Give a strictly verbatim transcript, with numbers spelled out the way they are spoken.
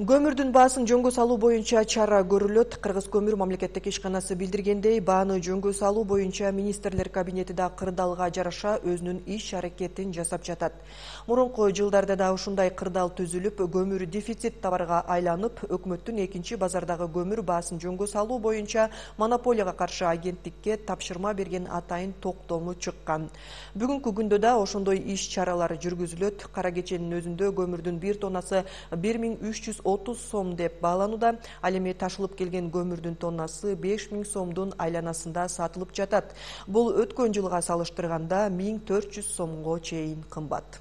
Көмүрдүн баасын жөнгө салуу боюнча чара көрүлөт. Кыргыз көмүр мамлекеттик ишканасы билдиргендей, бааны жөнгө салуу боюнча министрлер кабинети да кырдаалга жараша өзүнүн иш-аракетин жасап жатат. Мурунку жылдарда да ушундай кырдаал түзүлүп, көмүр дефицит товарга айланып, өкмөттүн экинчи базардагы көмүр баасын жөнгө салуу боюнча монополияга каршы агенттикке тапшырма берген атайын токтому чыккан. Бүгүнкү күндө да ошондой иш-чаралар жүргүзүлөт. Кара кеченин өзүндө көмүрдүн бир тоннасы бир миң үч жүз отуз сом деп бааланууда. Ал эми ташылып келген көмүрдүн тоннасы беш миң сомдун айланасында сатылып жатат. Бул өткөн жылга салыштырганда миң төрт жүз сомго чейин кымбат.